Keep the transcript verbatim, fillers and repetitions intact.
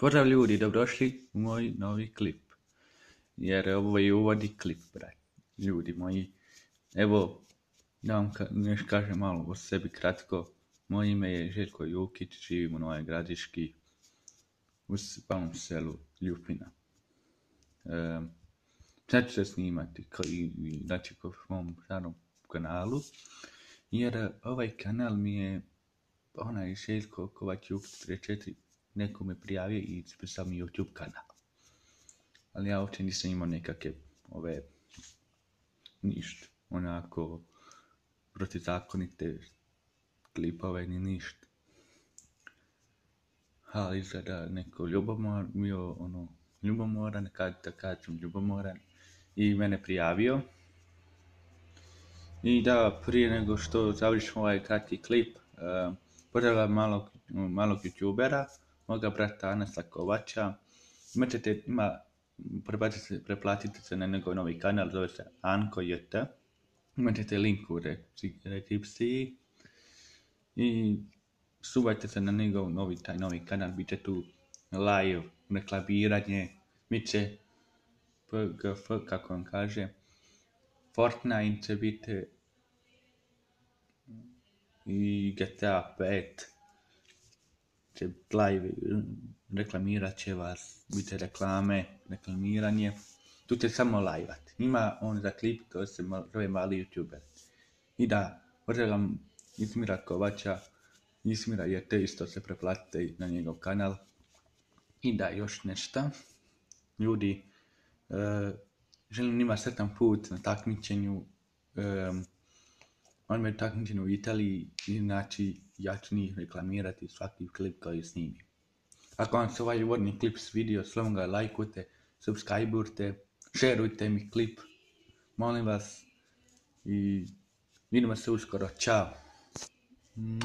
Pozdrav ljudi, dobrodošli u moj novi klip. Jer ovo je uvodi klip, brat. Ljudi moji. Evo, da vam ka- nešto kažem malo o sebi kratko. Moje ime je Željko Jukić, živim u Novoj Gradiški, u malom selu Ljupina. E, sad ću se snimati, kao i, i znači po mom starom kanalu. Jer ovaj kanal mi je onaj Željko Kovač Jukić tri četiri neko me prijavio i ispisao mi YouTube kanal. Ali ja uopće nisam imao nekakve ove ništa, onako protizakonite klipove ni ništa. Ali izgleda neko ljubomor, bio ono ljubomoran, kad da kažem ljubomoran, i mene prijavio. I da, prije nego što završim ovaj kratki klip, uh, pozdravljam malog, malog youtubera, moga brata Anasa Kovača. Imaćete, ima, preplatite, preplatite se na njegov novi kanal, zove se Anko J T. Imaćete link u deskripciji. I subajte se na njegov novi, taj novi kanal, bit će tu live, reklamiranje, bit će P G F, kako vam kaže, Fortnite će biti i G T A pet će live, reklamirat će vas, bit će reklame, reklamiranje, tu će samo live-at. Ima on za klip, to se zove mali youtuber. I da, pozdravljam Ismira Kovača, Ismira je te isto se preplatite na njegov kanal. I da, još nešto. Ljudi, uh, želim njima sretan put na takmičenju. Um, on me takmičenju u Italiji, znači ja ću njih reklamirati svaki klip koji snimim. Ako vam se ovaj uvodni klip svidio, slobodno ga lajkujte, subscribeujte, šerujte mi klip, molim vas, i vidimo se uskoro, čao. Mm.